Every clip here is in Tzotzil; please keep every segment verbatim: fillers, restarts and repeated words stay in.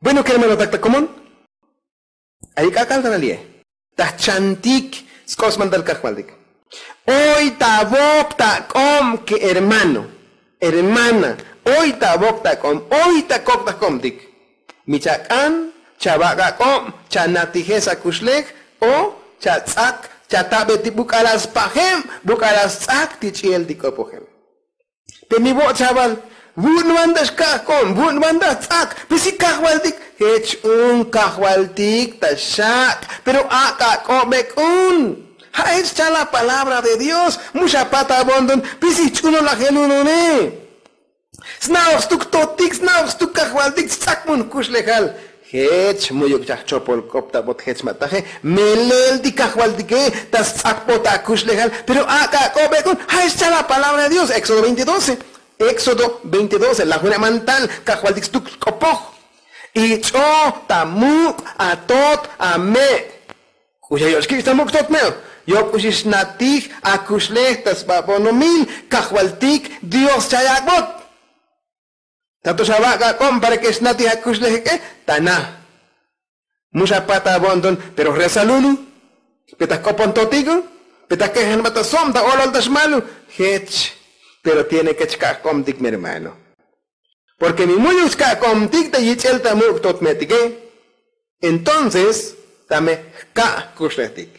Bueno, kermanotak ta komon, ay k'ak'al ta nali'e. Ta jchantik sk'op smantal kajvaltik. Oy ta vop ta k'ob ke hermano, hermana, oy ta vop ta k'ob, oy ta kok ta jk'obtik. Mi chak'an, chavak' ak'ob, chanatijej sakuxlej, o chatz'ak, chatabe ti buk'alal spajeb, buk'alal stz'ak ti ch'iel ti k'opojel. Pe mi vo' chaval, vu'un van ta xka' jk'ob, vu'un van ta jtz'ak, pe si kajvaltik. Jech un kajvaltik ta xak', pero ak' ak'ob ek'un. Ja' jech chal la palabra de Dios. Mu xapat avo'nton pe si jch'unolajel un une. Sna'oj stuk totik, sna'oj stuk kajvaltik, stz'ak mun jkuxlejal. Jech mu'yuk chaj chopol k'op ta vot jech ma' taje. Melel ti kajvaltike ta stz'ak vot akuxlejal. Pero ak' ak'ob ek'un. Ja' xchal la palabra de Dios, éxodo veinte doce. Éxodo veinte doce, lajune' mantal kajvaltik stuk k'opoj. Ich'o ta muk' atot ame'. K'uxi ayo'ox kich' ta muk' tot me'o. Yo k'uxi xnatij akuxlej ta sba bonomil kajvaltik Dios chay ak'bot. Tato xavak' ak'ob para ke xnatij akuxlej ek'e. Ta na. Mu xapat avo'nton, pero jresalulu. Pe ta jk'opon totiku. Pe ta kejen ba ta sob ta olol ta xmalu. Jech. Pero tiene ke chka' jk'obtik mi hermano. Porque mi mu'yuk chka' jk'obtik ta yich'el ta muk' tot me'tike. Entonces tame jka' jkuxlejtik.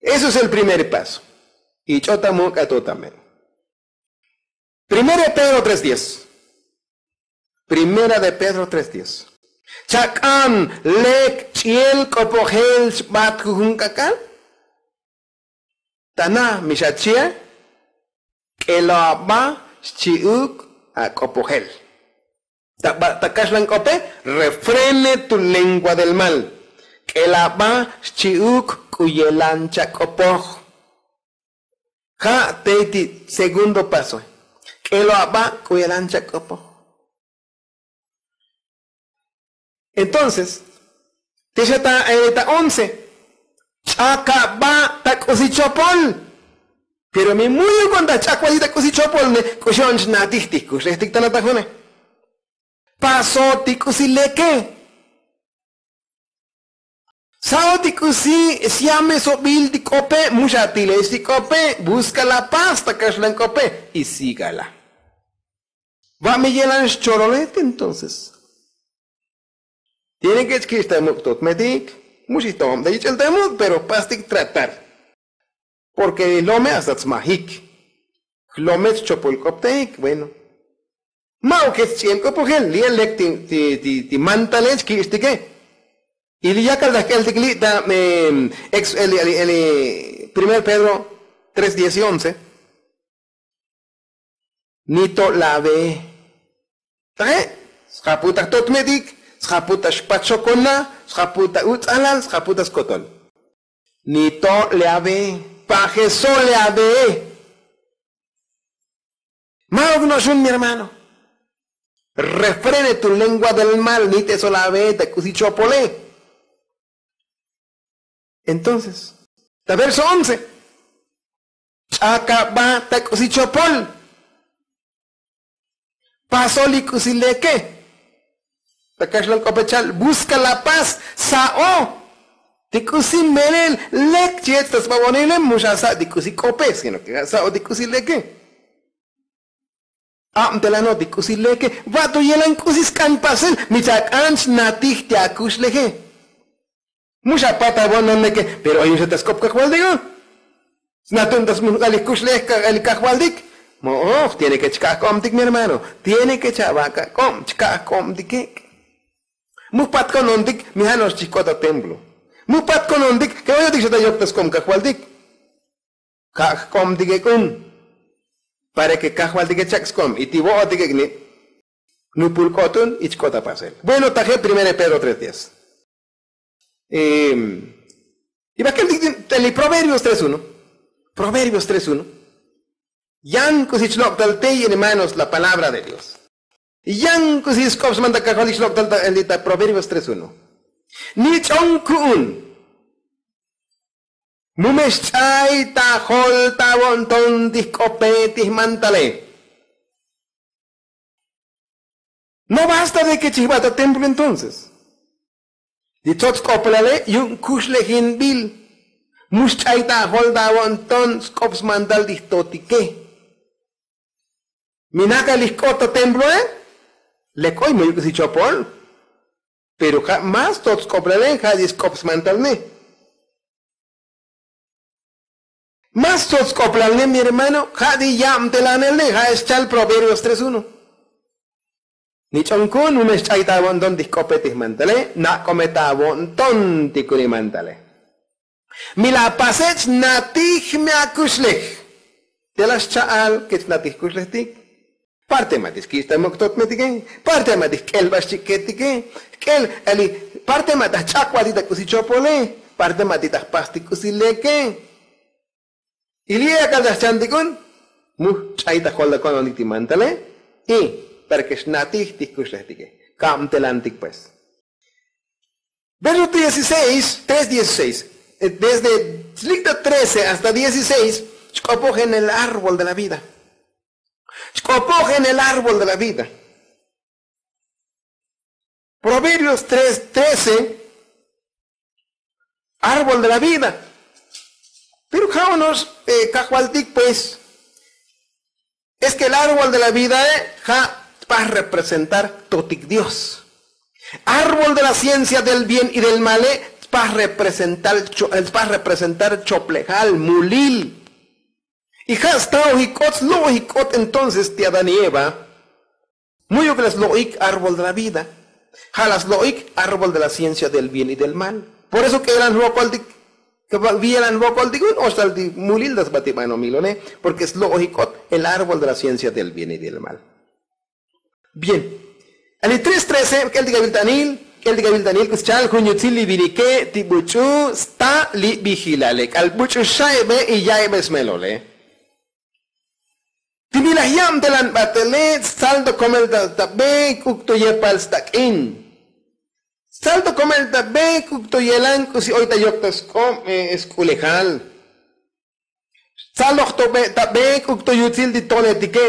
Eso es el primer paso. Ich'o ta muk' atot ame'. Primera de Pedro tres diez. Primera de Pedro tres diez. Chak'an lek ch'iel k'opojel xbat jujun k'ak'al. Ta na mi xachi'a. K'elo aba xchi'uk ak'opojel. Ta ba ta kaxlan k'ope. Refrene tu lengua del mal. K'elo aba xchi'uk k'u yelan chak'opoj. Ja' tey ti segundo pasoe. K'elo aba k'u yelan chak'opoj. Entonces te xa ta once. Ch'ak aba ta k'usi chopol. Pero mi mu'yuk on ta jch'ak vali ta k'usi chopol ne k'uxi on xnatij ti jkuxlejtik ta natajune. Paso ti k'usi leke. Sa'o ti k'usi syamesobil ti k'ope. Mu xatilech ti k'ope. Buska la paz ta kaxlan k'ope. Y sigala. Va' me yelan xchololet entonces. Tiene ke chkich' ta muk' tot metik. Mu xijto'ob ta yich'el ta muk' pero pastik tratar. Porque lome hasta tsmajik. Jlome chopol k'opteik bueno. Ma'uk jech ch'iel k'opojel li'e lek ti mantale chki'ixtike. Y li yakal ta jk'eltik li' ta ex el primer pedro tres diez y once. Ni to' lave. Taje'. Sjapu ta jtot metik. Sjapu ta xpachokona. Sjapu ta uts'alal sjapu ta skotol. Ni to' lave. Pajeso lave. Ma'uk no'xun mi hermano. Refrene tu lengua del mal ni te solave ta k'usi chopole. Entonces ta verso once. Ch'akaba ta k'usi chopol. Pasol li k'usi leke. Ta kaxlan k'ope chal buska la paz. Sa'o ti k'usi melel lek chech ta sbabonile mu xasa' ti k'usi k'ope sino ke ja' sa'o ti k'usi leke. Abtelano ti k'usi leke. Va'to yelan k'usi sk'an pasel mi chak'an xnatij ti akuxleje. Mu xapat avo'non neke. Pero ayun xa ta sk'op kajvaltik. Snatun ta smujk'al li jkuxlej kajvaltik. Mo'oj tiene ke chka' jk'obtik mi hermano. Tiene ke chavak' ak'ob chka' jk'obtik ek'. Mu jpat konontik mi ja' no'ox chijk'ot ta templo. Mu jpat konontik ke oyotik xa ta yok ta sk'om kajvaltik. Ka' jk'obtik ek'un. Para ke kajvaltik echak' sk'om y ti vo'otik ek'ni. Nupul k'otun y chk'ot apasel bueno taje primera de pedro tres diez. Y bakel ti li proverbios tres uno. Proverbios tres uno. Yan k'usi chlok'tal tey hermanos la palabra de dios. Yan k'usi sk'op smanta kajvaltik chlok'tal ta proverbios tres uno. Ni ch'on ku'un. Mu me xch'ay ta jol ta vo'nton ti jk'ope ti jmantale. No basta de ke chijba ta templo entonces. Ti tsots k'oplale yu'un kuxlejinbil. Mu xch'ay ta ajol ta avo'nton sk'op smantal ti jtotike. Mi nakal ijk'ot ta temploe. Lek oy mu yuk' si chopol. Pero ja' más tsots k'oplale ja' ti sk'op smantal ne. Más tsots k'oplal ne mi hermano ja' ti yabtelanel ne ja' xchal proverbios tres uno. Ni ch'on kun mu me xch'ay ta avo'nton ti jk'ope ti jmantale. Nak'ome ta avo'nton ti kuni mantale. Mi la pase chnatij me akuxlej. Te la xcha'al ke chnatij kuxlejtik. Parte ma' ti xkich' ta muk' totmetike. Parte ma' ti jk'el ba xchik'ketike. Jk'el eli. Parte ma' ta jch'ak ba ti ta k'usi chopole. Parte ma' ti ta jpastik k'usi leke. Y li' akal ta jchantik un. Mu ch'ay ta jol ta kononik ti mantale. Y para ke xnatij ti jkuxlejtike. Kabtelantik pues. Verso dieciséis, tres dieciséis. Desde slikta trece hasta dieciséis. Chk'opoj en el árbol de la vida. Chk'opoj en el árbol de la vida. Proverbios tres trece. Árbol de la vida. Pero ja'onox kajvaltik pues. Es ke el árbol de la vidae ja' tpaj representar totik dios. Árbol de la ciencia del bien y del male tpaj representar choplejal mulil. Y ja' staojik k'ot slo'ojik k'ot entonces ti adán y eva. Mu'yuk la slo'ik árbol de la vida. Ja' la slo'ik árbol de la ciencia del bien y del mal. Por eso k'elan jvokoltik. K'elan jvokoltik un oxtal ti mulil ta sba ti banomil one. Porke slo'ojik k'ot el árbol de la ciencia del bien y del mal. Bien. Ali tres trece k'eltik aviltanil k'eltik aviltanil k'uschal jun yutzil li vinike ti buch'u sta li vijilale k'al buch'u xaibe y yaibe smelole. Ti mi laj yabtelan batele. Sal to komel ta be k'uk to yepal stak'in. Sal to komel ta be k'uk to yelan k'usi oy ta yok ta sk'ob sk'ulejal. Sal loj to be ta be k'uk to yutzil ti toletike.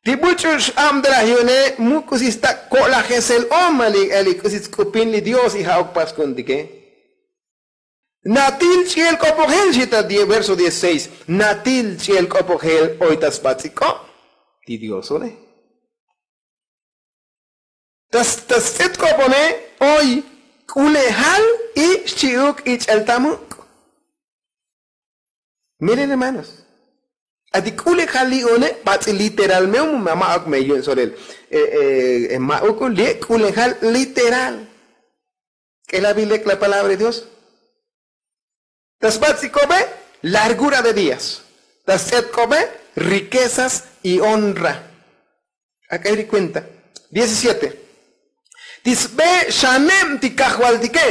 Ti buch'u x'abtelaj yu'une mu k'usi stak' ko'lajesel o ma li k'usi tsk'upin li dios y ja'uk paskuntike. Natil ch'i'el k'opojel xita verso dieciséis. Natil ch'i'el k'opojel oy ta sbats'ik'ob ti diosone. Ta sts'et k'opone oy k'ulejal y xchi'uk ich'el ta muk'. Miren hermanos. Ati k'ulejal li'one bats'i literal me'un ma' ma'uk me yu'un solel. Ma'uk un li' k'ulejal literal. K'elabil lek la palabra de dios. Ta sbats'ikobe largura de días. Ta sts'etkobe riquezas y honra. Ak'ay ri kuenta. Diecisiete. Ti sbe xanem ti kajvaltike.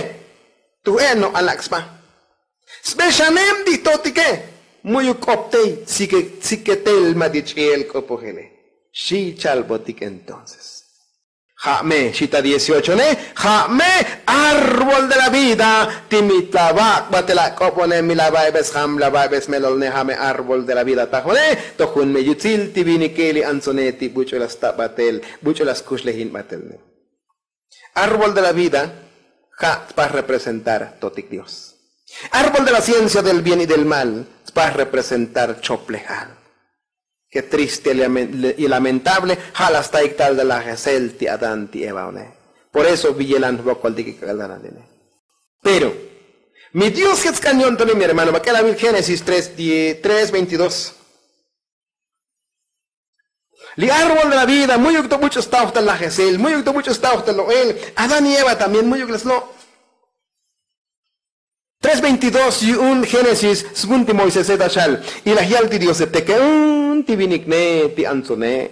Tuj e' no alak' sba. Sbe xanem ti jtotike. Mu'yuk k'optey siketel ma' ti ch'i'el k'opojele. Xi chalbotik entonces. Ja' me xita dieciocho ne. Ja' me árbol de la vida. Ti mi tlavak' batel ak'obone mi la vaibe sjam la vaibe smelolne ja' me árbol de la vida tajone. Tojun me yutzil ti vinike li antsone ti buch'u la sta batel buch'u la skuxlejin batelne. Árbol de la vida ja' tpaj representar totik dios. Árbol de la ciencia del bien y del mal tpaj representar choplejal. Ke triste y lamentable ja' la staik tal ta lajesel ti adán ti eva one. Por eso viyelan jvokoltik ik'al ta nantine. Pero mi dios jech sk'an yo'ntoni mi hermano ma k'el avil génesis tres veintidós. Li árbol de la vida mu'yuk to buch'u staoj ta lajesel mu'yuk to buch'u staoj ta lo'el. Adán y eva también mu'yuk la slo'. Tres veintidós yu'un génesis svun ti moisese ta xal. Y laj yal ti diose teke'un ti vinik ne ti antsone.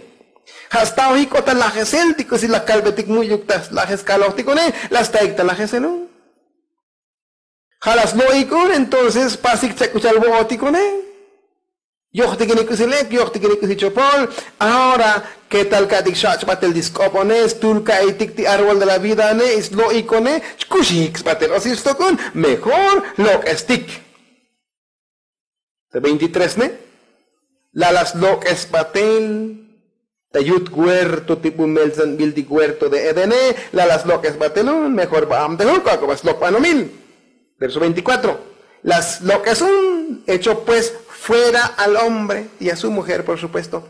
Ja' staojik k'ot ta lajesel ti k'usi laj kalbetik mu'yuk ta lajes kalojtik one. La staik ta lajeselun. Ja' la slo'ik un entonces pasik chak k'u cha'al vo'otik une. Yojtikinik k'usi lek yojtikinik k'usi chopol. Ahora ketal ka'tik xach' batel ti sk'ob one stul ka'itik ti árbol de la vida one y slo'ik one. Chkuxik sbatel o si stok un mejor lok'estik. Te veintitrés ne. La la slok'es batel. Ta yut huerto ti bu meltsanbil ti huerto de edene, la la slok'es batel un mejor ba am te jun k'o ak'o ba slok' banomil. Verso veinticuatro. La slok'es un, hecho pues fuera al hombre y a su mujer por supuesto.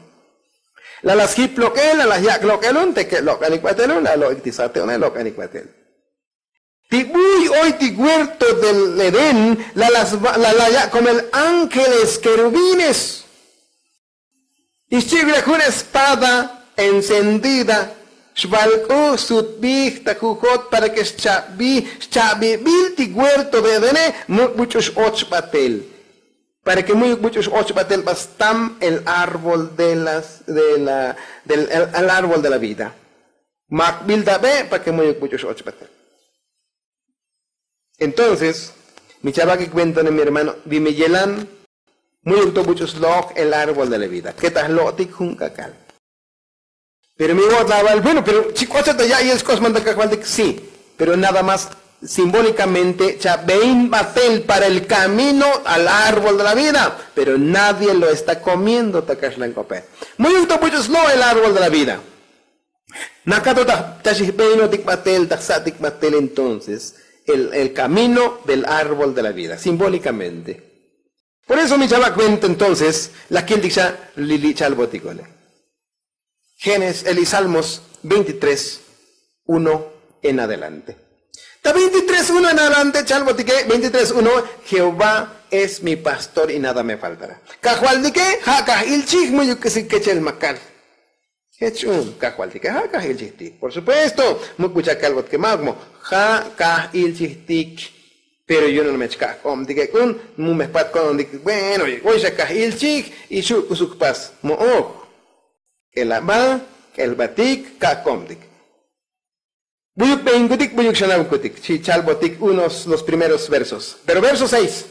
La la sjip lok'el la la yak' lok'el un te ke' lok'anik batel un la lo'ik ti sate une lok'anik batel. Ti buy oy ti huerto del edén la la la yak' komel ángeles kerubines. Ixchi'vile jun espada encendida xvalk'u sutbij ta jujot para ke xcha'bij xcha'bibil ti huerto de edene. Muk' buch'u x'och batel para ke muyuk buch'u x'och batel ba stam el árbol de las de la del el árbol de la vida. Makbil ta be' para ke muyuk buch'u x'och batel. Entonces mi chavak' ikuentone mi hermano, bi mi yelan muyuk to buch'u slok' el árbol de la vida ke ta jlo'tik jun k'ak'al. Pero mi vo'ot la aval bueno pero chi k'ocha ta ya'yel xk'osman ta kajvaltik si. Pero nada más simbólikamente chabein batel para el kamino al árbol de la vida. Pero nadie lo está komiendo ta kaxlank'ope. Muyuk to buch'u slo' el árbol de la vida. Nakato ta xijbeinotik batel ta jsa'tik batel entonces el kamino del árbol de la vida simbólikamente. Por eso mi chava' kuenta entonces la kiltik xa li li' chalbotikole. Génesis el isalmos veintitrés uno en adelante. Ta veintitrés uno en adelante chalbotike veintitrés uno. Jehová es mi pastor y nada me faltará. Kajvaltike ja' kaj ilchij muyuk k'isik kechel makal. Jech un kajvaltike ja' kaj ilchijtik por supuesto. Muk' bucha' kalbotike ma'uk mo ja' kaj ilchijtik. Pero yu'un me chkaj k'obtik ek'un mu me jpat ko'ntik bueno oy xa kaj ilchij. Y xu' k'usuk pas mo'oj k'elaba k'elbatik kaj k'obtik. Buyuk beinkutik buyuk xanabkutik chi chalbotik unos los primeros versos pero verso seis.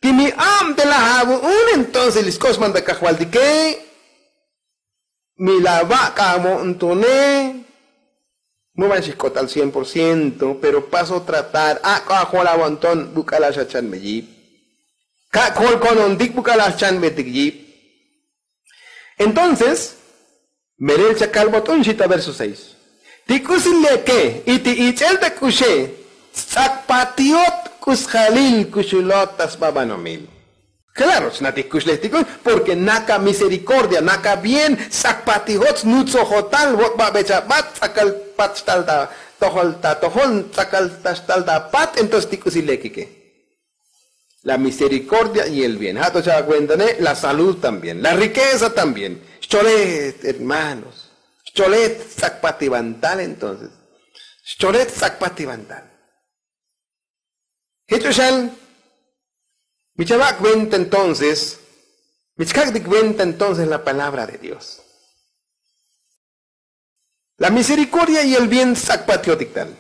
Ti mi ab te laj abu'un entonces li sk'osman ta kajvaltike. Mi la vak' avo'ntone. Mu van xijk'ot al cien por ciento pero paso tratar ak'o ajol avo'nton buk'alaj xa chanbe yip. Kak' jol ko'nontik buk'alaj chanbetik yip. Entonces melel chakalbot un xita verso seis. Ti k'usi leke y ti ich'el ta k'uxe sts'akpatiot k'usjalil kuxulot ta sba banomil. Klaro chnatik kuxlejtik un. Porke naka miserikordia naka bien sts'akpatijot snutsojotal vot babe chabat ts'akal pat xtal ta tojol ta tojol ts'akal ta xtal ta pat entonces ti k'usi lekike. La miserikordia y el bien ja' to cha'akuentane la salud también la rikeza también. Xcholet hermanos xcholet sts'akpativantal entonces. Xcholet sts'akpativantal. Jech uxan mi chava' kuenta entonces mi chkak'tik kuenta entonces la palabra de dios. La miserikordia y el bien sts'akpatiotik tal.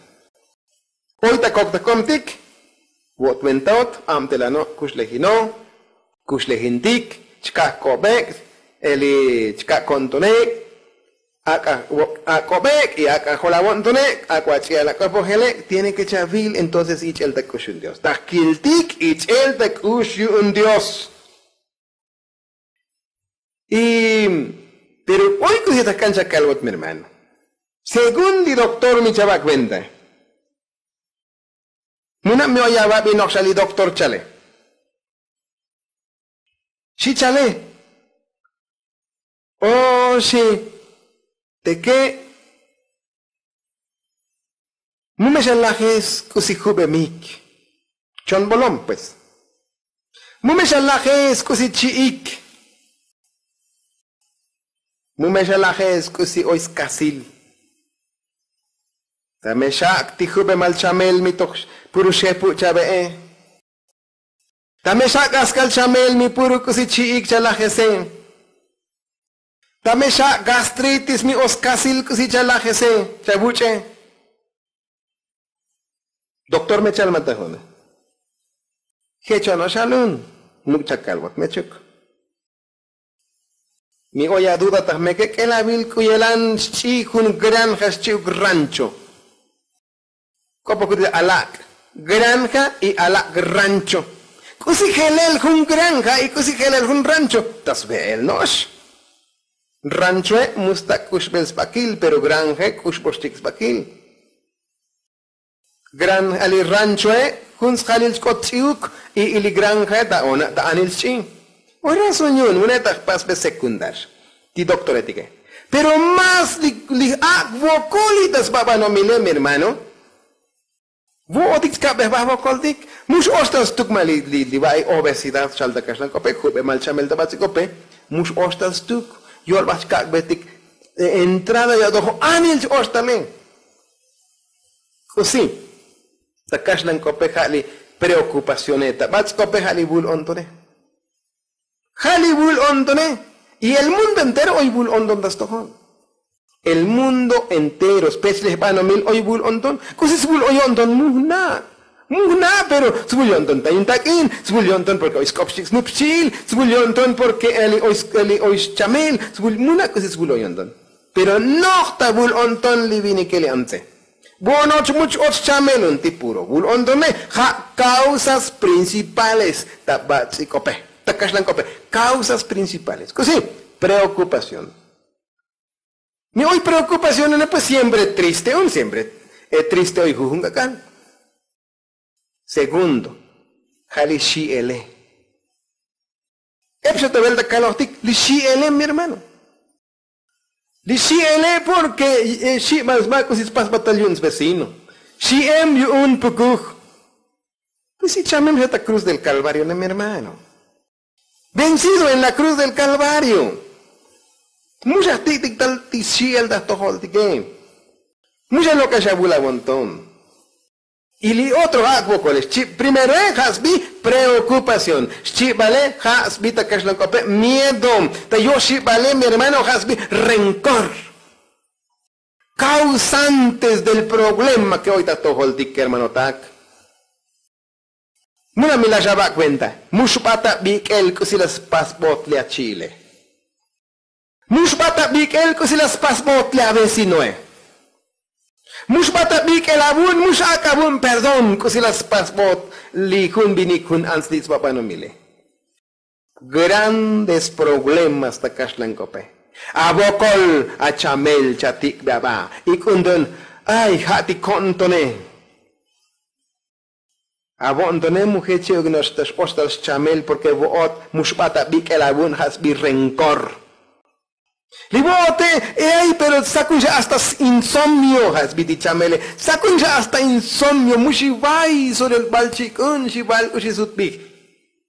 Oy ta kok ta komtik vo'ot ventaot abtelano' kuxlejino' kuxlejintik chkaj ko'bek' eli chkaj ko'ntonek'. Ak'a ko'bek' y ak'a jol avo'ntonek' ak'a ach'i'al ak'opojele' tiene ke chavil entonces ich'el ta k'ux yu'un dios ta jkiltik ich'el ta k'ux yu'un dios. Y pero oy k'usi ta kan chakalbot mi hermano. Según li doktor mi chava' kuenta. Muna' mi oy avabi nokxa li doktor chale. Xi chale. O xi teke' mu me xa lajes k'usi jubemik. Chon bolom pues. Mu me xa lajes k'usi chi'ik. Mu me xa lajes k'usi oy skasil. Ta me xak' ti jubemal chamel mi toj puru xepu' chabe'e. Ta me xak' askal chamel mi puru k'usi chi'ik chalajese. Ta me xak' gastritis mi oskasil k'usi chalajese chavuch'e. Doktor me chalmatajune. Jechono' xalun. Muk' chakalbot mechuk. Mi oy aduda taj meke k'elavil k'u yelan xch'i jun granja xchi'uk rancho. K'o pokuti alak' granja y alak' rancho. K'usi jelel jun granja y k'usi jelel jun rancho ta sve'el no'ox. Ranchoe' mus ta k'uxbel sbakil pero granje k'uxboxtik sbakil. Gran ali ranchoe' jun sjalil chk'ot ch'iuk. Y li granje ta ona' ta anil sch'i. Oy razón yu'un une' ta jpasbe sekundar ti doktoretike. Pero más li ak' vokoli ta sbabanomile mi hermano. Vo'otik chkabej baj vokoltik. Mux oxtal stuk ma li li va'i obesidad xal ta kaxlan k'ope jube mal chamel ta bats'i k'ope. Mux oxtal stuk yol baj chkak'bejtik. Entrada yo'tojo anil ch-oxtale. K'usi ta kaxlan k'ope ja' li preokupacione ta bats'i k'ope ja' li vul ontone. Ja' li vul ontone. Y el mundo entero oy vul onton ta stojol. El mundo entero spech li jbanomil oy vul onton. K'usi svul oy onton mujna'. Mujna' pero svul yo'nton ta yun tak'in. Svul yo'nton porke oy sk'op xchik' snup xchi'il. Svul yo'nton porke eli oy schamel. Svul mujna' k'usi svul oy onton. Pero noj ta vul onton li vinike li antze. Vo'onoch much och chamel un ti puro vul ontone. Ja' causas principales ta bats'i k'ope ta kaxlan k'ope. Causas principales k'usi preokupación. Mi oy preokupación une pues siempre triste un siempre triste oy jujun k'ak'al. Segundo ja' li xi'ele. Ep xa ta vel ta kalojtik li xi'ele mi hermano. Li xi'ele porke xi' bal sba k'usi spasbatal yu'un svecino. Xi'em yu'un pukuj. Pues ichamem xa ta cruz del kalvario ne mi hermano. Vencido en la cruz del kalvario. Mu xa jtik'tik tal ti xi'el ta jtojoltike. Mu xa lok'ex avul avonton. Y li otro ja' kvokolex chi'bal primeroe ja' sbi preokupación. Xchi'bale ja' sbi ta kaxlan k'ope miedo. Ta yoxibale mi hermano ja' sbi renkor. Kausantes del problema ke oy ta jtojoltik kermanotak. Muna mi la xa vak' venta. Mu xbat abik'el k'usi la spasbot li achi'ile. Mu xbat abik'el k'usi la spasbot li avecinoe. Mu xbat abik'el avun mu xak' avun perdón k'usi la spasbot li jun vinik jun ants li sbabanomile. Grandes problemas ta kaxlan k'ope. Avokol achamel chatik'be aba. Ik'un ton ay ja' ti ko'ntone. Avo'ntone mu jeche'uk no'ox ta x'oxtal xchamel porke vo'ot mu xbat abik'el avu'n ja' sbi renkor. Li vo'ote ey pero sakun xa hasta insomnio ja' sbi ti chamele. Sakun xa hasta insomnio mu xivay solel bal chik'un xival k'uxi sutbij.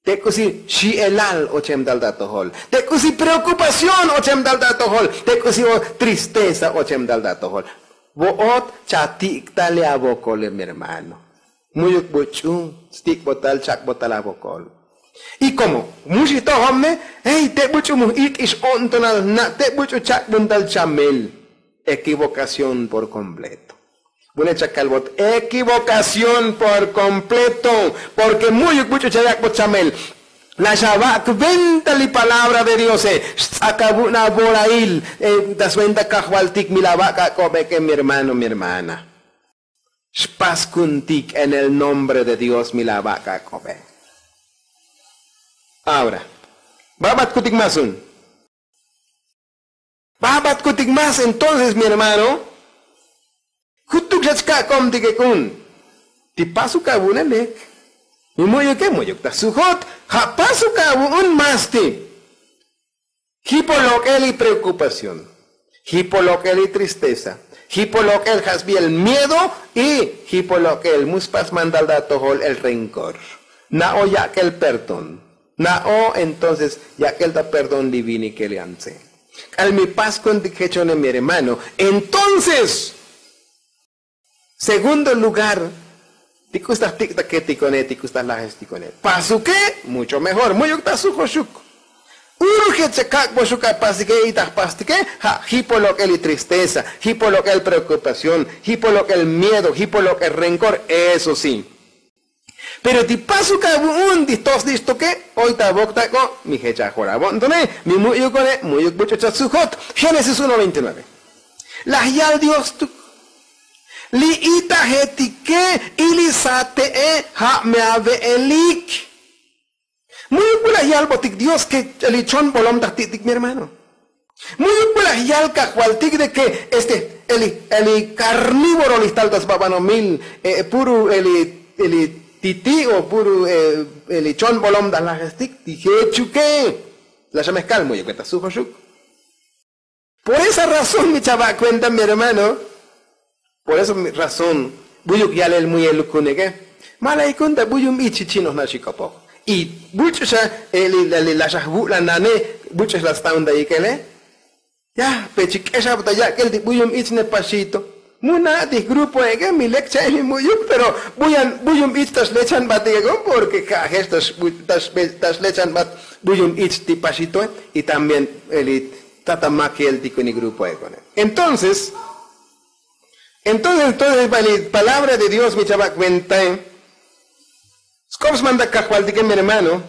Te k'usi xi'elal ochem tal ta atojol. Te k'usi preokupación ochem tal ta atojol. Te k'usi tristeza ochem tal ta atojol. Vo'ot chatik' tal li avokole mi hermano. Mu'yuk buch'u stik'botal chak'botal avokol. Y komo mu xijtojom ne ey te buch'u mu j'it'ix o'ntonal jna' te buch'u chak'buntal chamel. Ekivokación por kompleto. Vune' chakalbot ekivokación por kompleto. Porke mu'yuk buch'u chayak'bot chamel. La xavak' venta li palabra de diose. Xtz'ak avu'un avorail ta sventa kajvaltik mi la vak' ak'obe ke mi hermano mi hermana. Xpaskuntik en el nombre de dios mi la vak' ak'obe. Ahora babatkutik mas un. Babatkutik mas entonces mi hermano. Jutuk xa chka'komtik ek'un. Ti pasuk avu'une lek. Mi mu'yuke mu'yuk ta sujot. Ja' pasuk avu'un mas ti. Jipo lok'el li preokupación. Jipo lok'el li tristeza. Jipo lok'el ja' sbi el miedo. Y jipo lok'el mu spas mandal ta atojol el renkor. Na'o yak'el perdón. Na'o entonces yak'el ta perdón li vinike li antze. K'al mi paskuntik jechone mi hermano. Entonces segundo lugar ti k'us ta jtik' ta ketikone ti k'us ta jlajestikone. Pasuke mucho mejor mu'yuk ta sujoxuk. Urjet chakak'boxuk apasike y ta jpastike. Ja' jipo lok'el li tristeza, jipo lok'el preokupación, jipo lok'el miedo, jipo lok'el renkor. Eso si. Pero ti pasuk avu'un ti jtos li xtoke oy ta avok tak'o. Mi jech ajol avo'ntone mi mu'yukone mu'yuk buch'u chasujot. Génesis uno veintinueve. Laj yal dios tuk. Li itajetike y li sate'e ja' me ave'elik. Mu'yuk bu laj yalbotik dios ke li chon bolom ta jti'tik mi hermano. Mu'yuk bu laj yal kajvaltik de ke este eli eli karnívoro li jtal ta sba banomil, puru eli eli titi' o puru eli chonbolom ta lajestik ti jechuke. Laj xa mejkal mu'yuk beta sujoxuk. Por esa razón mi chava' kuenta mi hermano. Por esa razón buyuk yalel muyeluk kuneke. Ma laj ikun ta buyum ich xi chinoj na' xi k'opoj. Y buch'u xa eli laxaj vu'lan nane. Buch'u xa la staun ta ikele. Ya pe chi k'exab ta yak'el ti buyum ich ne paxito. Mu na' ti grupo eke mi lek cha'el mi mu'yuk pero buyan buyum ich ta xlechanbatik ekon porque ja' jex ta xlechanbat buyum ich ti paxitoe. Y también eli tata makel ti kuni grupo ekone. Entonces entonces entonces ba li palabra de dios mi chava' kuentae. Sk'op smantak kajvaltike mi hermano.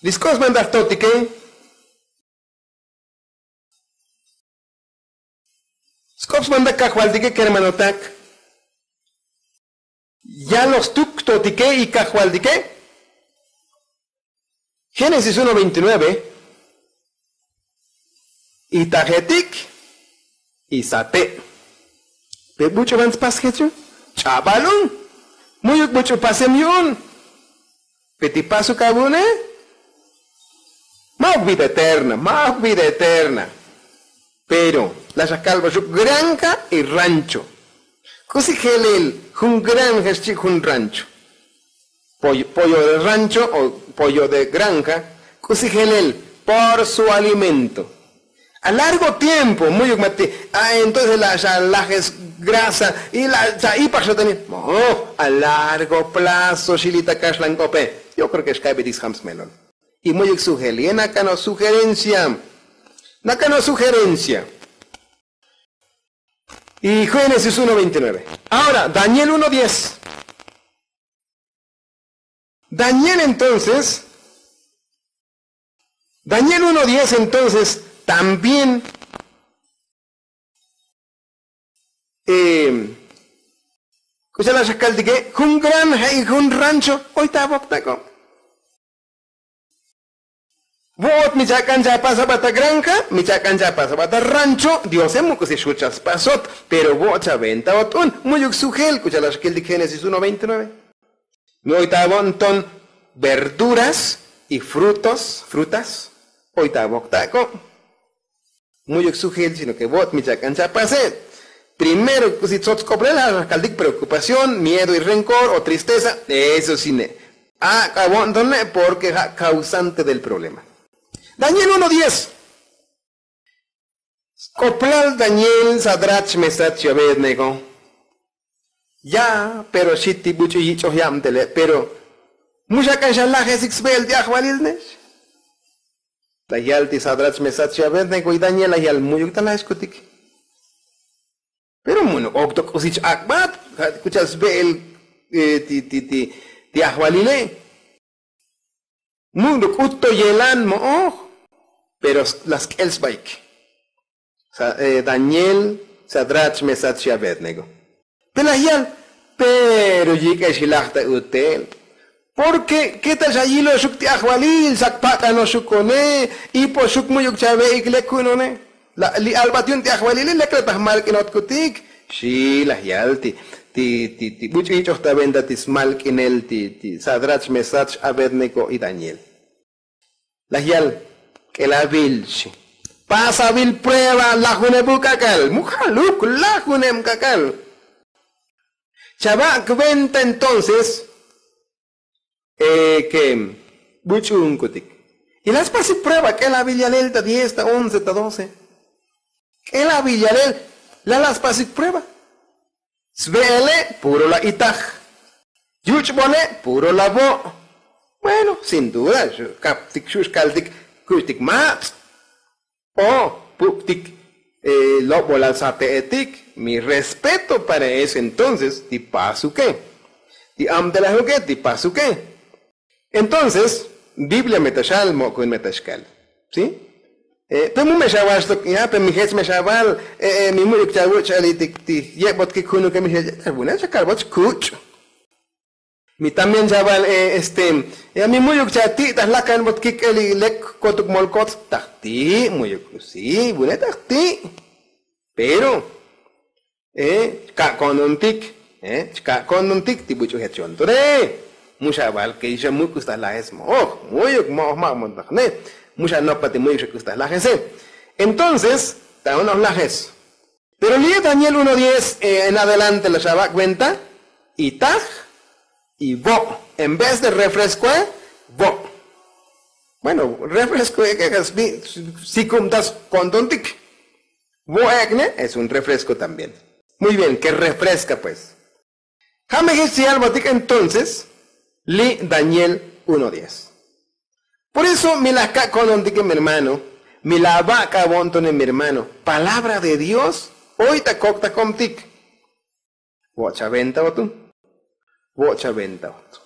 Li sk'op smantak jtotike. Sk'op smantak kajvaltike kermanotak. Yaloj stuk jtotike y kajvaltike. Génesis uno veintinueve. Itajetik y sate'. Pe buch'u van tspas jechu. Ch'abal un. Mu'yuk buch'u pasem yu'un. Pe ti pasuk avu'une. Ma'uk vida eterna ma'uk vida eterna. Pero laj xa kalbaxuk granja y rancho. K'usi jelel jun granja xchi' jun rancho. Pollo de rancho o pollo de granja. K'usi jelel por su alimento. A largo tiempo mu'yuk mati a entonces laj xa lajes grasa y laj xa ipaj xa tani. Mo'oj a largo plazo xi li ta kaxlan k'ope. Yo kreo ke xkabetik sjam smelol. Y mu'yuk sujel ye nakano' sujerencia. Nakano' sujerencia. Y génesis uno veintinueve. Ahora daniel uno diez. Daniel entonces daniel uno diez entonces también k'ucha' laj xa kaltike jun granja y jun rancho. Oy ta avoktak'o. Vo'ot mi chak'an chapas aba ta granja mi chak'an chapas aba ta rancho diose mu k'usi xut chaspasot. Pero vo'ot chaventaot un mu'yuk sujel k'ucha' laj xa kaltik génesis uno veintinueve. Mi oy ta avo'nton verduras y frutos frutas. Oy ta avoktak'o. Mu'yuk sujel sino ke vo't mi chak'an chapase. Primero k'usi tsots k'oplel ja' kaltik preokupación miedo y renkor o tristeza. Eso sine. Ak'avo'nton ne' porke ja' kausante del problema. Daniel uno diez. Sk'oplal daniel sadrach mesach y abednego. Ya pero xi ti buch'u yich'oj yabtele' pero mu xak'an xa lajesik sbe'el ti ajvalil nex. Laj yal ti sadrach mesach y abednego y daniel laj yal mu'yuk ta lajexkutik. Pero munuk okto k'usich ak'bat ja' ti k'ucha'al sbe'el ti ti ti ajvalile'. Mu'nuk k'ut to yelan mo'oj. Pero la sk'el sbaik. Daniel, sadrach mesach y abednego. Pe laj yal. Pero yik'ex ilaj ta utel. Porke ketal xa yiloxuk ti ajvalil xa kpak'anoxukone. Ipoxuk mu'yuk chave'ik lek ku'unone. Li albat yu'un ti ajvalile lek la ta jmalk'inotkutik. Xi laj yal ti ti ti buch'u yich'oj ta venta ti smalk'inel ti sadrach mesach abednego y daniel. Laj yal k'elavil xi. Pasavil prueba lajuneb uk'ak'al mu jaluk lajuneb k'ak'al. Chavak' venta entonces ke buch'u'unkutik. Y la spasik prueba k'elavil yalel ta diez ta once ta doce. K'elavil yalel la la spasik prueba. Sve'ele' puro la itaj. Yuch'bole' puro la vo'. Bueno sin duda xu' kaptik xu' xkaltik kuxtik matz'. O puk'tik lobolal sate'etik. Mi respeto para eso entonces ti pasuke ti amtelajuke ti pasuke. Entonces biblia me ta xal mo'kun me ta xkal. Pe mu me xaval xtok ya pe mi jech me xaval. Mi mu'yuk chavuch' xalitik ti yebot kik junuke mi jech ta vunel xa kalboch kuch'. Mi también chaval este, mi mu'yuk chati' ta jlakan bot kik'el li lek kotuk molkots tajti', mu'yuk si vune tajti'. Pero chka' ko'ntontik, chka' ko'ntontik ti buch'u jechon tore. Mu xaval ke xa muk'us ta lajes mo'oj, mu'yuk mo'oj ma' montaq ne. Mu xa nokpa ti mu'yuk xa k'us ta lajese. Entonces ta unoj lajes. Pero li' daniel uno diez en adelante la xaba' kuenta, y taj y vo', en vez de refresco e vo'. Bueno, refresco e ke kasbi si kumtas kontontik. Vo' ek'ne es un refresco también. Muy bien ke refresca pues. Ja' me jech ti yalbotik entonces li' daniel uno diez. Por eso mi laj kak' ko'nontike mi hermano, mi laj aba' k'abo'ntone mi hermano, palabra de dios oy ta kok' ta komtik. Vo'chaventa otu. Vo'chaventa otu.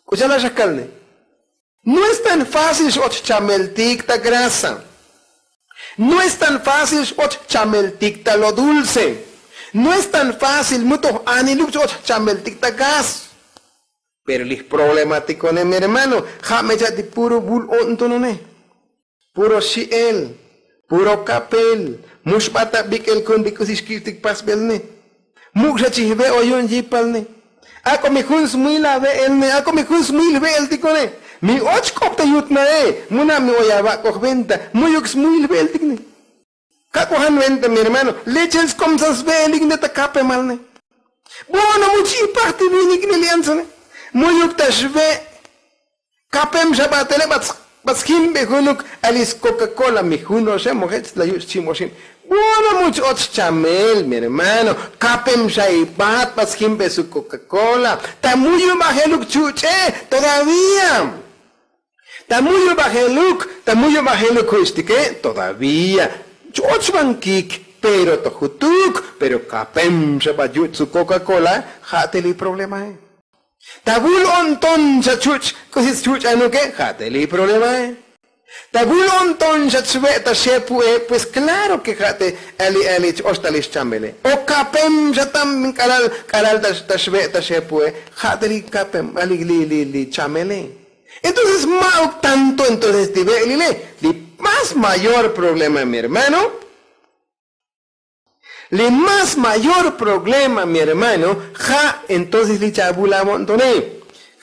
K'ucha' laj xajkalne. No es tan fácil x'och chameltik ta grasa. No es tan fácil x'och chameltik ta lo dulce. No es tan fácil mu toj aniluk x'och chameltik ta gas. Pero li jproblematiko'ne mi hermano, ja' me cha'ti puro vul o'ntonone. Puro xi'el, puro kapel. Mu xbat ta bik'el kun li k'usi xkibtik pasbelne. Muk' xa chijbe' o yu'un yipalne. Ak'o mi jun smuyil ave'elne ak'o mi jun smuyil jve'eltikone. Mi och k'op ta yut nae. Mu na' mi oy avak'oj venta mu'yuk smuyil jve'eltikne. Kak'ojan venta mi hermano, lechel skomsas ve'elik ne ta kapemalne. Bueno mu chipaj ti vinikne li antsone. Mu'yuk ta xve'. Kapem xa batele. Bat sjimbe junuk ali skoka kola mi junoxe mojech la yuch' chimoxin. Bueno mu ch-och chamel mi hermano. Kapem xa ibat bat sjimbe su koka kola. Ta muyu' bajeluk chuch'e todavía. Ta muyu' bajeluk ta muyu' bajeluk juch'tike todavía. Ch-och bankik pero to jutuk. Pero kapem xa bat yuch' su koka kola. Ja' te li problemae. Ta vul o'nton xa chuch' k'usi schuch'anuke ja' te li problemae. Ta vul o'nton xa chve' ta xepu'e pues klaro ke ja' te ali ali ch-och ta li xchamele. O kapem xa tam k'alal k'alal ta xve' ta xepu'e. Ja' te li kapem ali li li chamele. Entonces ma'uk tanto entonces ti ve'lile. Li más mayor problema mi hermano. Li más mayor problema mi hermano. Ja' entonces li chavul avo'ntone.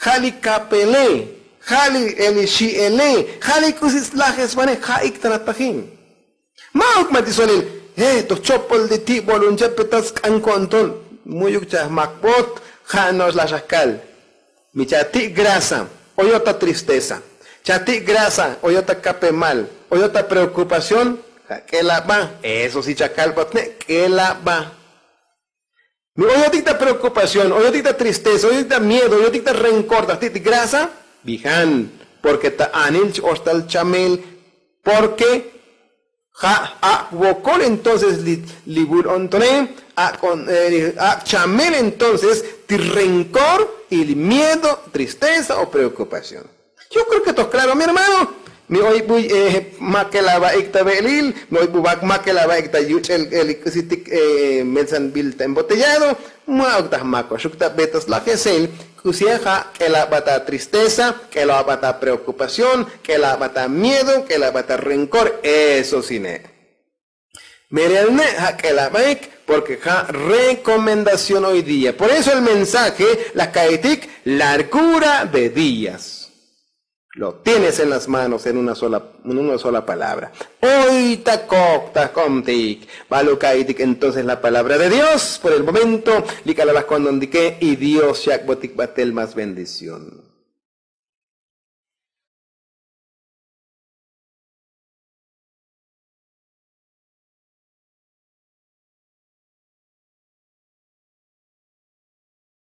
Ja' li kapele. Ja' li xi'ele. Ja' li k'usi slajesvane ja' ik ta la tajin. Ma'uk ma ti solil. Toj chopol ti ti' bolunche petat sk'an ko'nton. Mu'yuk chajmakbot. Ja' no'ox la xajkal. Mi chati' grasa oyot ta tristeza. Chati' grasa oyot ta kapemal. Oyot ta preokupación. Ja' k'elaba. Eso si chakal botne' k'elaba. Mi oyotik ta preokupación oyotik ta tristeza oyotik ta miedo oyotik ta renkor ta ti' ti grasa. Bijan. Porke ta anil ch-och tal chamel. Porke ja' ak' vokol entonces li vul o'ntone. Ak' chamel entonces ti renkor y li miedo tristeza o preokupación. Yo kreo ke toj klaro mi hermano. Mi oy buy makel ava'ik ta ve'lil. Mi oy buy makel ava'ik ta yuch'el li k'usitik melsanbil ta embotellado. Ma'uk ta jmakoxuk ta be ta slajesel. K'usi ja' k'elaba ta tristeza, k'elaba ta preokupación, k'elaba ta miedo, k'elaba ta renkor. Eso sine'. Merelne' ja' k'elabaik porke ja' rekomendación hoy día por eso el mensaje la kaitik. Largura de días. Lo tienes en las manos en una sola palabra. Oy ta kok ta komtik. Bal ukaitik entonces la palabra de dios por el momento. Li k'alal la konontike y dios xyak'botik batel más bendición.